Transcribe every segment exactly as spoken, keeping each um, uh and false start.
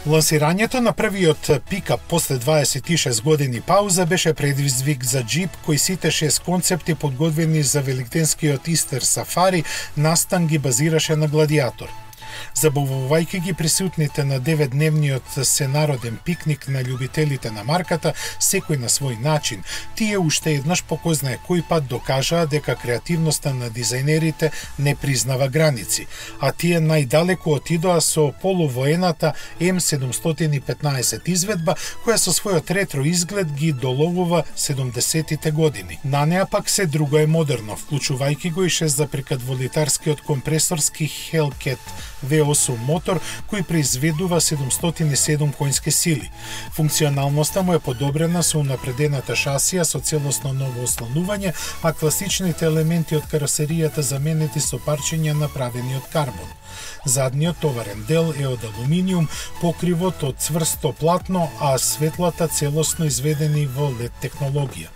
Лансирањето на првиот пикап после дваесет и шест години пауза беше предизвик за Jeep, кој сите шест концепти подготвени за великденскиот Истер Сафари настан ги базираше на Гладиатор. Забавувајќи ги присутните на деветдневниот сенароден пикник на љубителите на марката, секој на свој начин, тие уште еднаш по кој знае кој пат докажаа дека креативноста на дизајнерите не признава граници, а тие најдалеку отидоа со полувоената М седумстотини и петнаесет изведба, која со својот ретро изглед ги доловува седумдесетите години. На неа пак се друго е модерно, вклучувајќи го и шест запирка две литарскиот компресорски Hellcat В осум мотор кој произведува седумстотини и седум конски сили. Функционалноста му е подобрена со унапредената шасија со целосно ново ослонување, а класичните елементи од каросеријата заменети со парчиња направени од карбон. Задниот товарен дел е од алуминиум, покривот од цврсто платно, а светлата целосно изведени во лед технологија.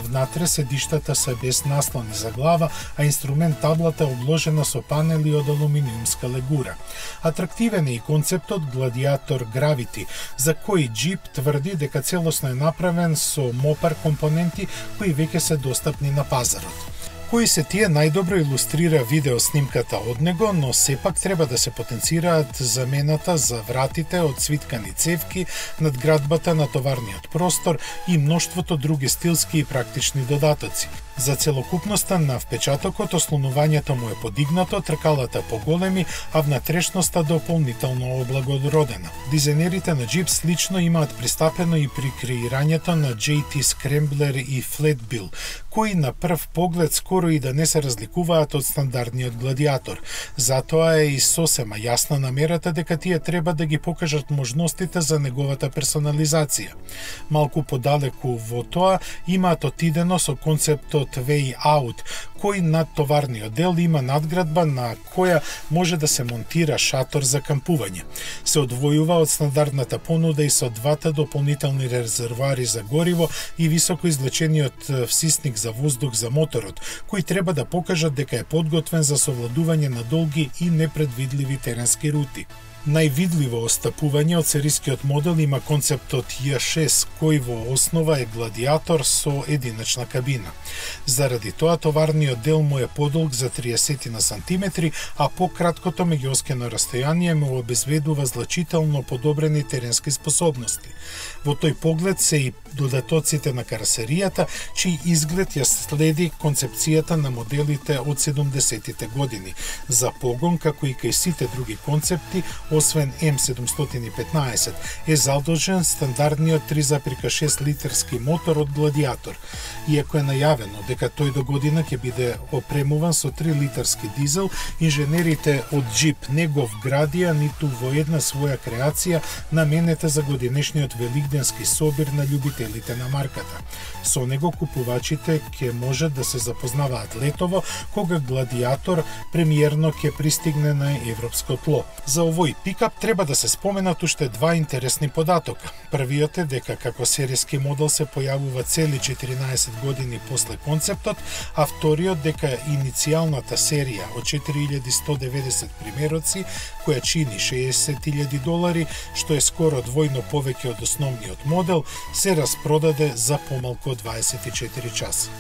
Внатре седиштата се без наслони за глава, а инструмент таблата е обложена со панели од алуминиумска легура. Атрактивен е и концептот Гладиатор Gravity, за кој Jeep тврди дека целосно е направен со Mopar компоненти кои веќе се достапни на пазарот. Кои се тие најдобро илустрира видеоснимката од него, но сепак треба да се потенцираат замената за вратите од свиткани цевки, надградбата на товарниот простор и мноштвото други стилски и практични додатоци. За целокупноста на впечатокот ослонувањето му е подигнато, тркалата поголеми, а внатрешноста дополнително облагородена. Дизајнерите на Jeep слично имаат пристапено и при креирањето на J T Scrambler и Flatbill, кои на прв поглед скоро и да не се разликуваат од стандардниот Гладиатор. Затоа е и сосема јасна намерата дека тие треба да ги покажат можностите за неговата персонализација. Малку подалеку во тоа имаат отидено со концептот Way Out, кој над товарниот дел има надградба на која може да се монтира шатор за кампување. Се одвојува од стандардната понуда и со двата дополнителни резервоари за гориво и високо извлечениот всисник за воздух за моторот, кои треба да покажат дека е подготвен за совладување на долги и непредвидливи теренски рути. Највидливо остапување од серискиот модел има концептот J шест, кој во основа е Гладиатор со единачна кабина. Заради тоа товарниот дел му е подолг за триесет сантиметри, а пократкото меѓуоскено растојание му обезбедува значително подобрени теренски способности. Во тој поглед се и додатоците на каросеријата, чиј изглед ја следи концепцијата на моделите од седумдесетите години. За погон, како и кај сите други концепти, освен М седумстотини и петнаесет, е задолжен стандардниот три запирка шест литарски мотор од Гладиатор. Иако е најавено дека тој до година ќе биде опремуван со три литарски дизел, инженерите од Jeep не го вградија ниту во една своја креација наменета за годинешниот великденски собир на љубителите на марката. Со него купувачите ќе можат да се запознаваат летово, кога Гладиатор премиерно ќе пристигне на европско тло. За овој пикап треба да се споменат уште два интересни податока. Првиот е дека како серијски модел се појавува цели четиринаесет години после концептот, а вториот дека иницијалната серија од четири илјади сто и деветдесет примероци, која чини шеесет илјади долари, што е скоро двојно повеќе од основниот модел, се распродаде за помалку од дваесет и четири часа.